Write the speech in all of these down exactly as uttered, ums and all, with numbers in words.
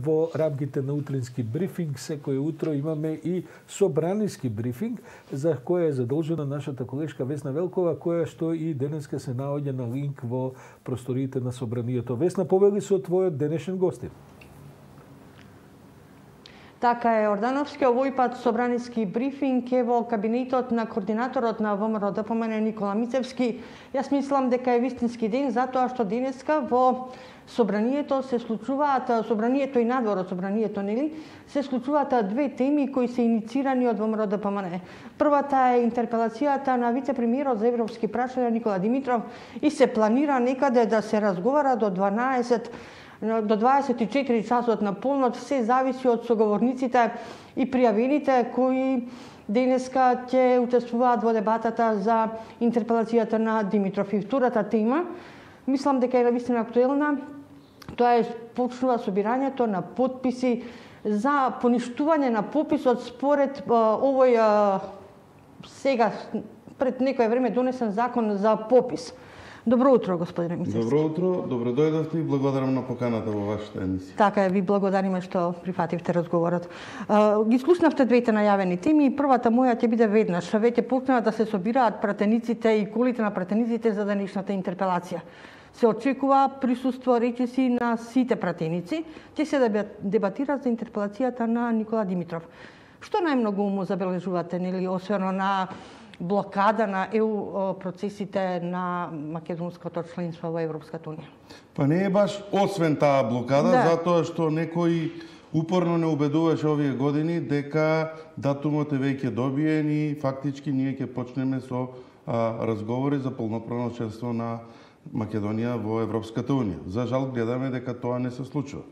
Во рамките на утрински брифинг секој утро имаме и собраниски брифинг за која е задолжена нашата колешка Весна Велкова, која што и денеска се наоѓа на линк во просториите на собранието. Весна, повели со твојот денешен гостин. Така е, Ордановски, овој пат собраниски брифинг е во кабинетот на координаторот на ВМРО Д П М Н Никола Мицевски. Јас мислам дека е вистински ден затоа што денеска во собранието се случуваат, собранието и надвор од собранието, нели, се случуваат две теми кои се иницирани од ВМРО Д П М Н. Првата е интерпелацијата на вице-премиерот за европски прашања Никола Димитров и се планира некаде да се разговара до дванаесет до дваесет и четири часот на полнот, се зависи од соговорниците и пријавените кои денеска ќе учествуваат во дебатата за интерпелацијата на Димитров. И втората тема, мислам дека е навистина актуелна, тоа е почнува собирањето на потписи за поништување на пописот според овој сега пред некое време донесен закон за попис. Добро утро, господине Мицевски. Добро утро, добро дојдовте и благодарам на поканата во вашата емисија. Така е, ви благодариме што прифативте разговорот. Ги слушнавте двете најавени теми и првата моја ќе биде веднаш. Веќе почнаа да се собираат пратениците и колите на пратениците за денешната интерпелација. Се очекува присуство речиси на сите пратеници. Ќе се дебатира за интерпелацијата на Никола Димитров. Што најмногу му забележувате, нели, освено на блокада на Е У процесите на македонското членство во Европската унија? Па не е баш освен таа блокада, да. Затоа што некој упорно не убедуваше овие години дека датумот е веќе добиен и фактички ние ќе почнеме со а, разговори за полноправно членство на Македонија во Европската унија. За жал гледаме дека тоа не се случува.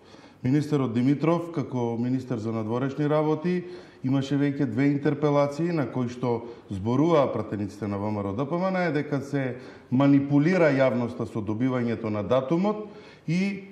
Министерот Димитров, како министер за надворешни работи, имаше веќе две интерпелации на кои што зборуваа пратениците на ВМРО Д П М Н дека се манипулира јавноста со добивањето на датумот и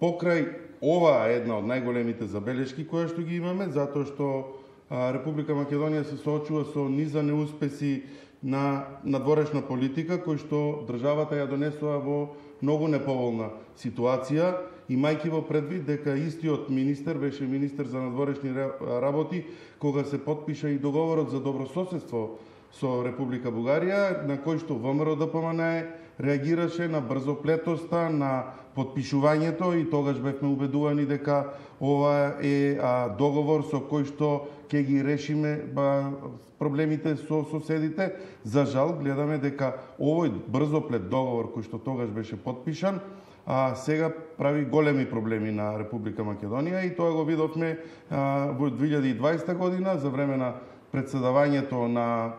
покрај ова е една од најголемите забелешки која што ги имаме, затоа што а, Република Македонија се соочува со низа неуспеси на надворешна политика кој што државата ја донесува во многу неповолна ситуација, имајќи во предвид дека истиот министер беше министер за надворешни работи кога се потпиша и договорот за добрососедство со Република Бугарија, на кој што ВМРО Д П М Н реагираше на брзоплетоста на потпишувањето и тогаш бевме убедувани дека ова е а, договор со кој што ќе ги решиме ба, проблемите со соседите. За жал гледаме дека овој брзоплет договор кој што тогаш беше потпишан, а сега прави големи проблеми на Република Македонија и тоа го видовме а, во две илјади и дваесета година за време на председавањето на а,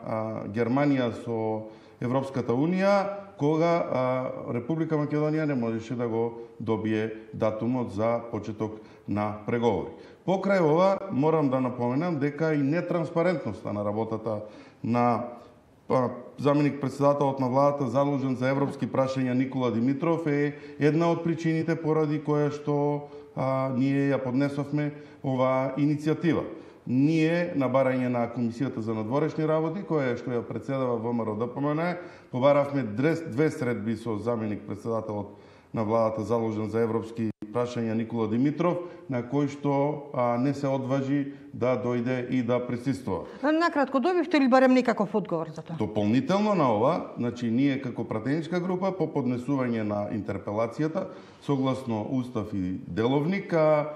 Германија со Европската унија, кога а, Република Македонија не можеше да го добие датумот за почеток на преговори. Покрај ова, морам да напоменам дека и нетранспарентноста на работата на заменик председателот на владата задолжен за европски прашања Никола Димитров е една од причините поради која што а, ние ја поднесовме оваа иницијатива. Ние, на барање на Комисијата за надворешни работи, која што ја председава ВМРО Д П М Н, побаравме две средби со заменик председателот на владата задолжен за европски прашања Никола Димитров, на кој што а, не се одважи да дојде и да присуствува. Накратко, добивте ли барем некаков одговор за тоа? Дополнително на ова, значи ние како пратеничка група по поднесување на интерпелацијата, согласно устав и деловник, а,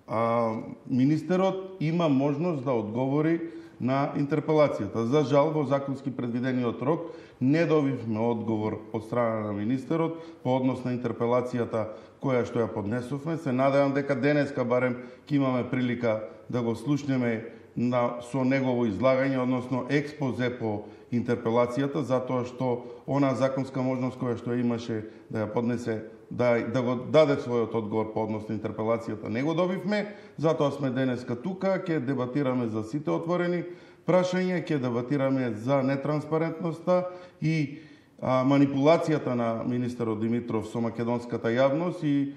а, министерот има можност да одговори на интерпелацијата. За жал, во законски предвидениот рок не добивме одговор од страна на министерот по однос на интерпелацијата која што ја поднесовме. Се надевам дека денеска барем ќе имаме прилика да го слушнеме на, со негово излагање, односно експозе по интерпелацијата, затоа што она законска можност која што имаше да ја поднесе, да, да го даде својот одговор по однос на интерпелацијата, не го добивме, затоа сме денеска тука, ќе дебатираме за сите отворени прашања, ќе дебатираме за нетранспарентноста и а, манипулацијата на министерот Димитров со македонската јавност и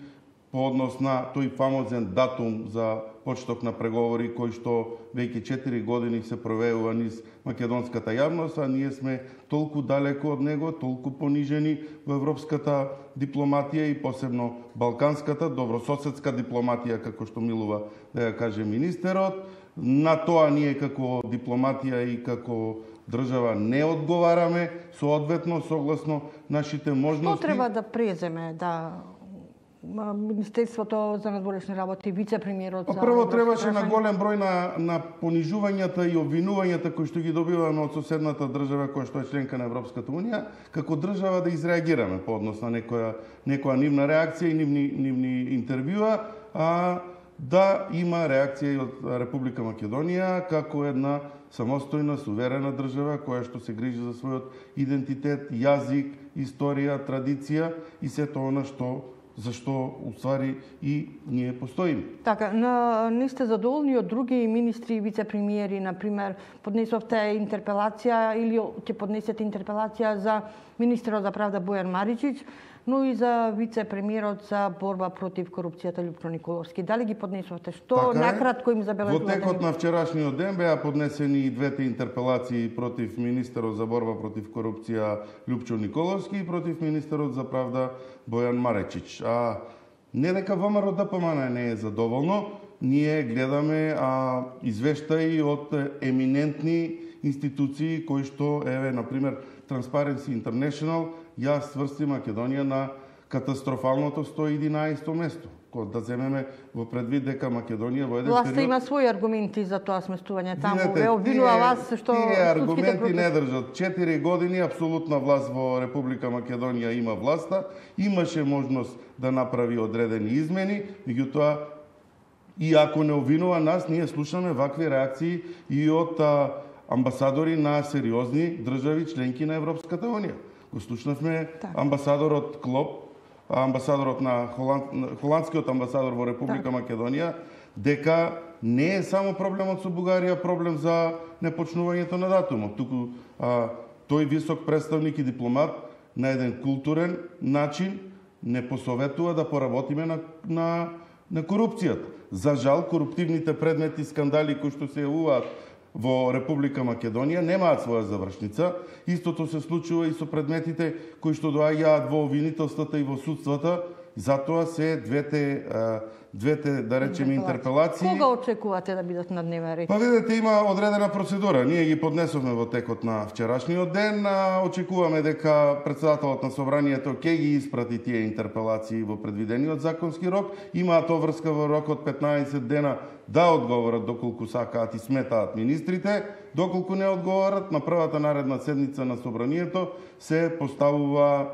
по однос на тој фамозен датум за почеток на преговори кој што веќе четири години се провеува низ македонската јавност, а ние сме толку далеко од него, толку понижени во европската дипломатија и посебно балканската, добрососедска дипломатија, како што милува да ја каже министерот. На тоа ние како дипломатија и како држава не одговараме соодветно согласно нашите можности. Што треба да преземе да Министерството за надворешни работи, вице-премиерот за... Прво требаше на голем број на, на понижувањата и обвинувањата кои што ги добиваме од соседната држава која што е членка на Европската унија, како држава да изреагираме по однос на некоја, некоја нивна реакција и нивни, нивни интервјуа, а да има реакција и од Република Македонија како една самостојна, суверена држава која што се грижи за својот идентитет, јазик, историја, традиција и сето она што зашто уствари и ние постоиме. Така, на, не сте задоволни од други министри и вице-премиери, например, поднесовте интерпелација или ќе поднесете интерпелација за министерот за правда Бојан Маричич, но и за вице-премиерот за борба против корупцијата Лјупчо Николовски. Дали ги поднесовте? Што така накратко им забележувате? Во текот на вчерашниот ден беа поднесени и двете интерпелации против министерот за борба против корупција Лјупчо Николовски и против министерот за правда Бојан Маричич. А не дека ВМРО ДПМН не е задоволно, ние гледаме а, извештаи од еминентни институции кои што, еве, например, Transparency International ја сврсти Македонија на катастрофалното сто и единаесетто место. Кога да земеме во предвид дека Македонија во еден Власта период... има своји аргументи за тоа сместување таму. Видете, Ве обвинува тие, вас што тие аргументи против... не држат. Четири години апсолутна власт во Република Македонија има власта, имаше можност да направи одредени измени, меѓутоа и ако не обвинува нас, ние слушаме вакви реакции и од а, амбасадори на сериозни држави членки на Европската унија. Го слушнавме амбасадорот Клоп, амбасадорот на Холанд... холандскиот амбасадор во Република Македонија, дека не е само проблемот со Бугарија, проблем за непочнувањето на датумот. Туку а, тој висок представник и дипломат на еден културен начин не посоветува да поработиме на, на, на корупцијата. За жал, коруптивните предмети, скандали кои што се јавуваат во Република Македонија немаат своја завршница. Истото се случува и со предметите кои што доаѓаат во обвинителствата и во судствата. Затоа се двете, двете да речеме, интерпелации. Кога очекувате да бидат на дневен ред? Па видите, има одредена процедура. Ние ги поднесовме во текот на вчерашниот ден. Очекуваме дека председателот на собранието ќе ги испрати тие интерпелации во предвидениот законски рок. Имаат обврска во рок од петнаесет дена да одговорат доколку сакаат и сметаат министрите. Доколку не одговорат, на првата наредна седница на собранието се поставува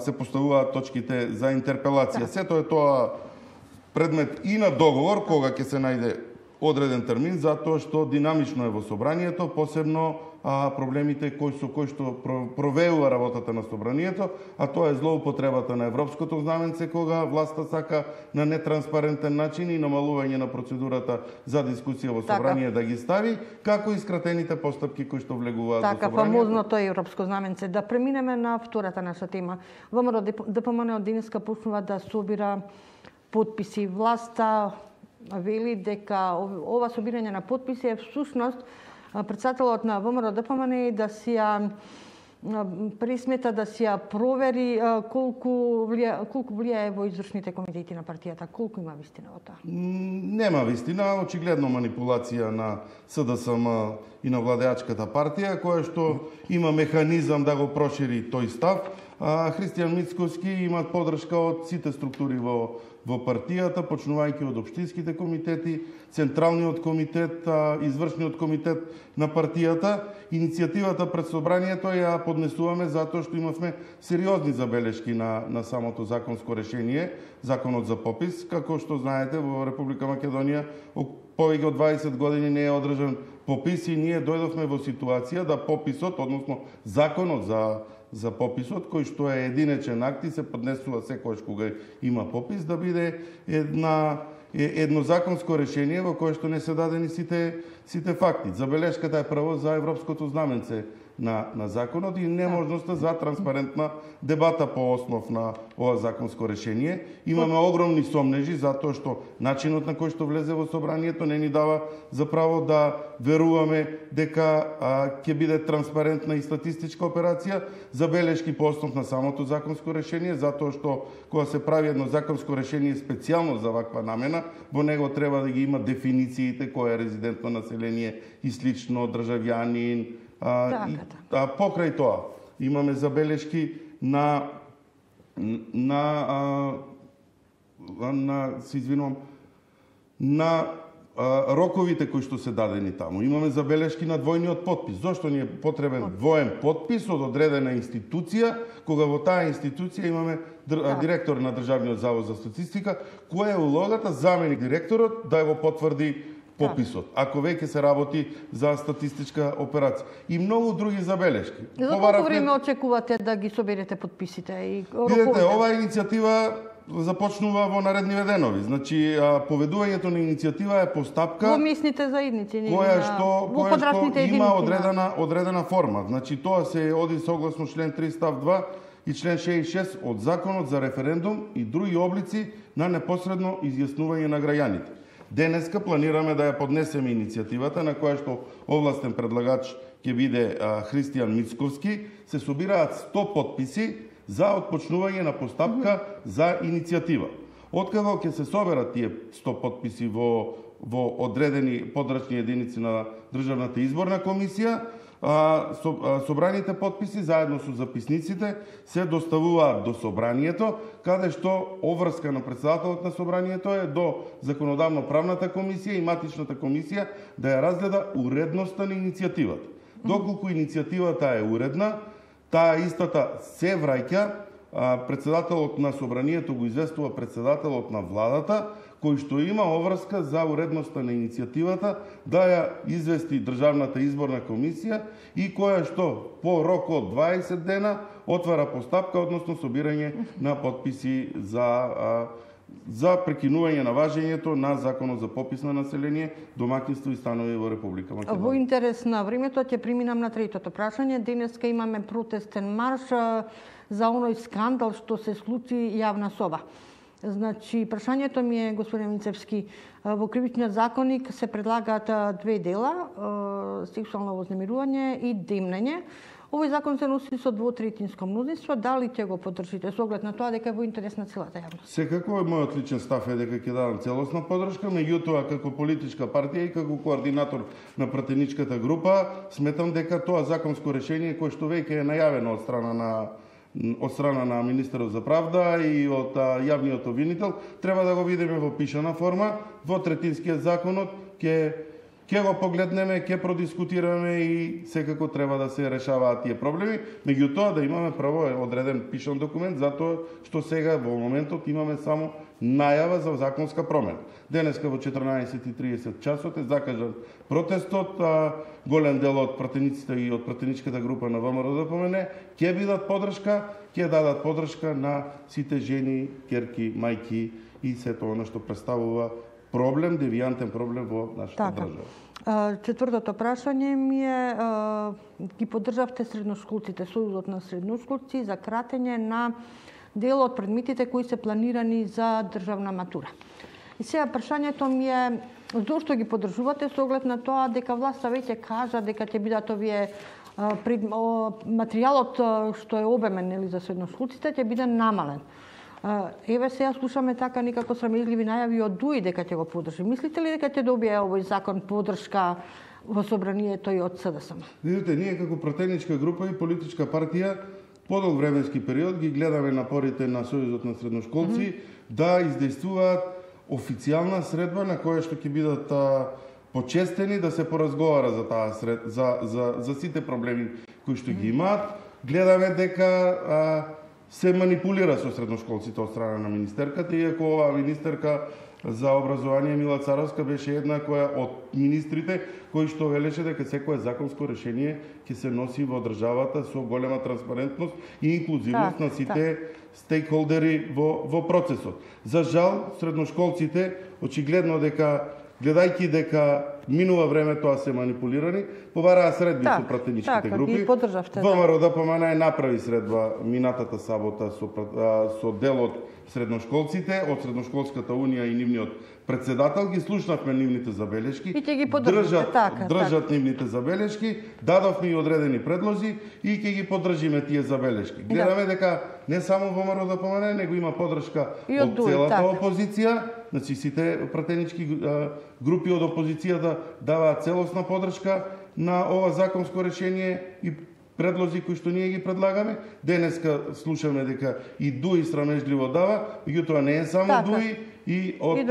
се поставуваат точките за интерпелација. Сето е тоа предмет и на договор, кога ќе се најде одреден термин, затоа што динамично е во собранието, посебно а, проблемите кои со кои што провеува работата на собранието, а тоа е злоупотребата на европското знаменце, кога власта сака на нетранспарентен начин и намалување на процедурата за дискусија во собрание така да ги стави, како и скратените постапки кои што влегуваат така, во собранието. Така, фамозното европско знаменце. Да преминеме на втората наша тема. ВМРО ДПМН од денеска почнува да собира подписи. Власта вели дека ова собирање на подписи е всушност председателот на ВМРО ДПМН да си ја пресмета да си ја провери колку влија, колку влијае во извршните комитети на партијата. Колку има вистина во тоа? Нема вистина, очигледно манипулација на СДСМ и на владеачката партија, која што има механизам да го прошири тој став. Христијан Мицковски има поддршка од сите структури во во партијата, почнувајќи од општинските комитети, централниот комитет, извршниот комитет на партијата. Иницијативата пред собранието ја поднесуваме затоа што имавме сериозни забелешки на, на самото законско решение, законот за попис. Како што знаете, во Република Македонија повеќе од дваесет години не е одржан попис и ние дојдовме во ситуација да пописот, односно законот за за пописот, кој што е единечен акт и се поднесува секогаш кога има попис, да биде една едно законско решение во кое што не се дадени сите сите факти. Забелешката е прво за европското знаменце на, на законот и неможноста за транспарентна дебата по основ на ова законско решение. Имаме огромни сомнежи затоа што начинот на кој што влезе во собранието не ни дава за право да веруваме дека а, ќе биде транспарентна и статистичка операција. Забелешки по основ на самото законско решение, затоа што кога се прави едно законско решение специјално за ваква намена, во него треба да ги има дефинициите кој е резидентно население и слично, државјанин. А, и, а покрај тоа имаме забелешки на на а, на се извинувам на а, роковите кои што се дадени таму. Имаме забелешки на двојниот потпис. Зошто ни е потребен двоен потпис од одредена институција, кога во таа институција имаме др... директор на Државниот завод за статистика, која е улогата заменик директорот да го потврди пописот, ако веќе се работи за статистичка операција. И многу други забелешки. За колку време очекувате да ги соберете подписите и роковите? Видете, оваа иницијатива започнува во наредни денови. Значи, поведувањето на иницијатива е постапка во местните заедници, која што, која што има одредена, одредена форма. Значи, тоа се оди согласно член три став два и член шеесет и шест од Законот за референдум и други облици на непосредно изјаснување на граѓаните. Денеска планираме да ја поднесеме иницијативата на која што овластен предлагач ќе биде а, Христијан Мицковски. Се собираат сто потписи за отпочнување на постапка за иницијатива. Откако ќе се соберат тие сто потписи во, во одредени подрачни единици на Државната изборна комисија, а, со, а, собраните потписи заедно со записниците се доставуваат до собранието, каде што обврска на председателот на собранието е до Законодавно-правната комисија и матичната комисија да ја разгледа уредноста на иницијативата. Доколку иницијативата е уредна, таа истата се враќа, председателот на собранието го известува председателот на владата, кој што има обврска за уредноста на иницијативата да ја извести Државната изборна комисија и која што по рок од дваесет дена отвара постапка, односно собирање на потписи за за прекинување на важењето на Законот за попис на население, домаќинство и станови во Република Македонија. Во интерес на времето ќе преминам на третото прашање. Денеска имаме протестен марш за оној скандал што се случи јавна соба. Значи, прашањето ми е, господин Мицевски, во Кривичниот законник се предлагаат две дела, сексуално вознемирување и демнење. Овој закон се носи со двотретинско мнозинство. Дали ќе го поддржите со оглед на тоа дека е во интерес на целата јавност? Секако мојот личен став е дека ќе дадам целосна поддршка, меѓутоа како политичка партија и како координатор на пратеничката група сметам дека тоа законско решение кое што веќе е најавено од страна на од страна на министерот за правда и од а, јавниот обвинител, треба да го видиме во пишана форма, во третинскиот законот ќе ќе го погледнеме, ќе продискутираме и секако треба да се решаваат тие проблеми, меѓутоа да имаме право одреден пишан документ, затоа што сега во моментот имаме само најава за законска промена. Денеска во четрнаесет и тридесет часот е закажан протестот, а, голем дел од пратениците и од пратеничката група на ВМРО-ДПМН ќе бидат поддршка, ќе дадат поддршка на сите жени, керки, мајки и сето оно што представува проблем, девијантен проблем во нашата така држава. Четвртото прашање ми е, ги поддржавте средношколците, Сојузот на средношколци за кратење на дел од предметите кои се планирани за државна матура. И сега прашањето ми е, зошто ги поддржувате со оглед на тоа дека власта веќе кажа дека ќе бидат овие пред, материјалот што е обемен нели за средношколците ќе биде намален. Еве сега слушаме така некако срамежливи најави од ДУИ дека ќе го поддржи. Мислите ли дека ќе добие овој закон поддршка во собранието и од СДСМ? Видите, ние како пратеничка група и политичка партија подолг временски период ги гледаме напорите на Сојузот на средношколци mm -hmm. да издействуваат официјална средба на која што ќе бидат а, почестени да се поразговара за таа сред, за, за, за сите проблеми кои што ги имаат. Гледаме дека а, се манипулира со средношколците од страна на министерката, иако оваа министерка за образование Мила Царовска беше една која од министрите кои што велеше дека секое законско решение ќе се носи во државата со голема транспарентност и инклузивност так, на сите так. стейкхолдери во, во процесот. За жал, средношколците очигледно дека гледајќи дека минува време, тоа се манипулирани, побараа средби так, со пратеничките така, групи. ги поддржавте. ВМРО-ДПМН е направи средба минатата сабота со, со дел од средношколците, од Средношколската унија и нивниот председател, ги слушнавме нивните забелешки. И ќе ги поддржите, држат, така, држат така. нивните забелешки, дадовме и одредени предлози и ќе ги поддржиме тие забелешки. Гледаме да. дека не само ВМРО-ДПМН, него има поддршка и од, од дуј, целата така. опозиција, значи сите пратенички групи од опозицијата даваат целосна поддршка на ова законско решение и предлози кои што ние ги предлагаме. Денеска слушаме дека и ДУИ срамежливо дава, меѓутоа не е само така. ДУИ и од И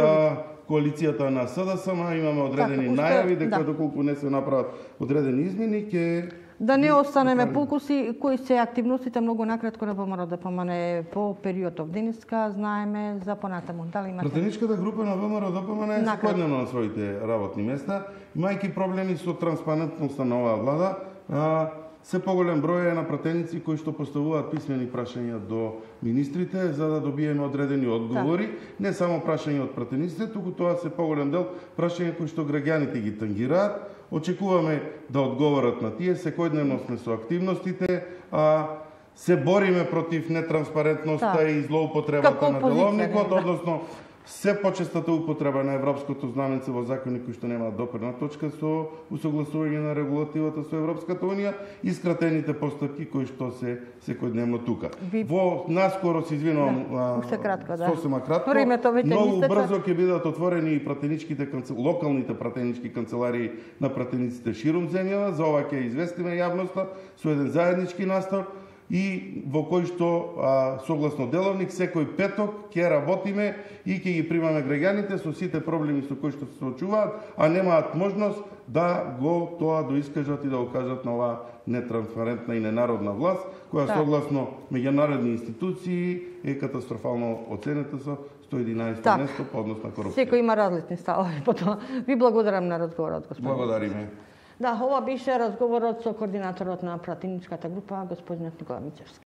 коалицијата на СДСМ имаме одредени така, најави дека да. доколку не се направат одредени измени ќе Да не останеме пукуси, кои се активностите многу накратко на ВМРО-ДПМН по периодов денеска, знаеме за понатаму. Дали имате? Пратеничката група на ВМРО-ДПМН е секојдневно на своите работни места, имајќи проблеми со транспарентноста на оваа влада. А, се поголем број е на пратеници кои што поставуваат писмени прашања до министрите за да добиеме одредени одговори, да. Не само прашања од пратениците, туку тоа се поголем дел прашања кои што граѓаните ги тангираат. Очекуваме да одговорат на тие, секојдневно сме со активностите, а се бориме против нетранспарентноста да. И злоупотребата на деловникот, да. Односно се почестата употреба на европското знаменце во закони кои што немаат допирна точка со усогласување на регулативата со Европската унија и скратените постапки кои што се секојдневно тука. Ви... Во наскоро се извинувам, да. Кратко, да. Сосема кратко, многу брзо ќе бидат отворени и пратеничките локалните пратенички канцеларии на пратениците ширум земјава. За ова ќе известиме јавноста со еден заеднички настав и во кој што а, согласно деловник секој петок ќе работиме и ќе ги примаме граѓаните со сите проблеми со кои што се соочуваат, а немаат можност да го тоа доискажат и да го кажат на оваа нетранспарентна и ненародна власт, која да. Согласно меѓународни институции е катастрофално оценета со сто и единаесето так. Место по однос на корупција. Секој има различни ставови по тоа. Ви благодарам на разговорот, господин. Благодариме. Да, ова беше разговорот со координаторот на пратеничката група, господинот Никола Мицевски.